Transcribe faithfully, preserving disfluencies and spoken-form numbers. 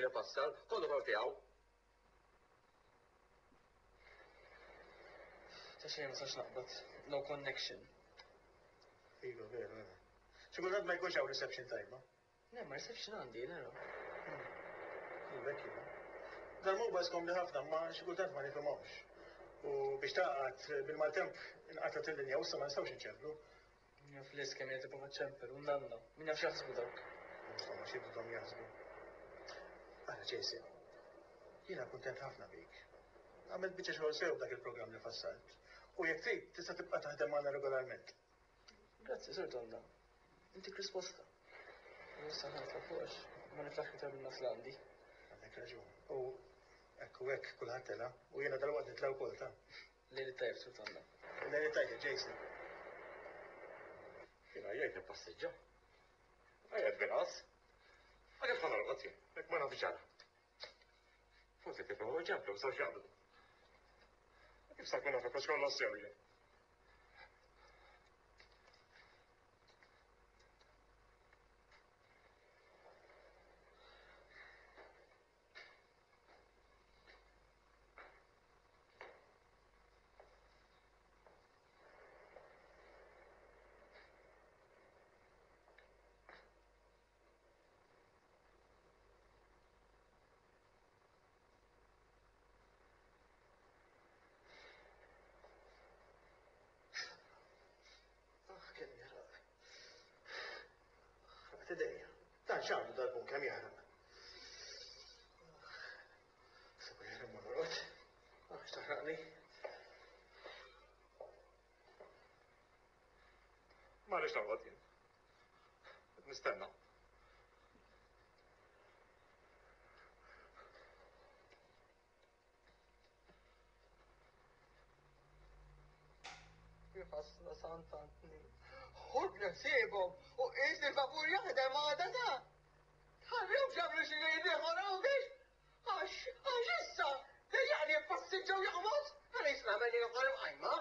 li fassal, kollu tort tiegħu. Ta' xejn ma sax naqbad. No connection. Iva, vera, vera. Xi kultant ma jkunx hawn reception tajba. Le, ma reception għandi, nara. Iva, hekk iva. Dal-mobiles komdi ħafna, ma xi kultant ma nifhimhomx. U biex taqgħad bil-maltemp inqatgħet il-linja u issa ma nistgħux inċemplu. Jaf lis kemm qed tipprova ċempel u nanna. Min jaf x'jaħsbu dawk. Insomma, xi bdhom jaħsbu. Ara, Jason, jiena kuntent ħafna bik. Għamilt biċċa xogħol sew dak il-programm li fassalt. U jekk trid tista' tibqa' taħdem magħna regolarment. Grazzi, Sur Tonda. Intik risposta. U issa ħa nitla' fuq għax ma niflaħx iktar minn nas li għandi. Għandek raġun. U hekk u hekk kulħadd tela' u jiena dalwaqt nitla' wkoll ta'. Lejl it-tajjeb, Sur Tonda. Lejl it-tajjeb, Jason. Jiena jgħid nippassiġġa. Għajjed bil-qas. Ma kif ħa norqod jien, jekk ma nafx ġara. Forsi tifhmu ġemplu, sa x'jaqblu. Kif sa nkun naf hekk kollox sew jien? Ah, kemm jaħraq. Ħraqt idejja. Dan x'għandu dal-bun kemm jaħraq. Sabu jaħraq ma norqod. Ah, x'taħraqni. Ma rridx norqod jien. Qed nistenna. Jħassna Sant Antni. Ħudni ħsiebhom u qis li l-vapur jaħdem għada ta'. Tħallihomx jagħmlu xi lejl ieħor hawnhekk. Għax, għax issa, dejjaqni jippassiġġa u joqmos, għaliex nagħmel ieħor imqajma.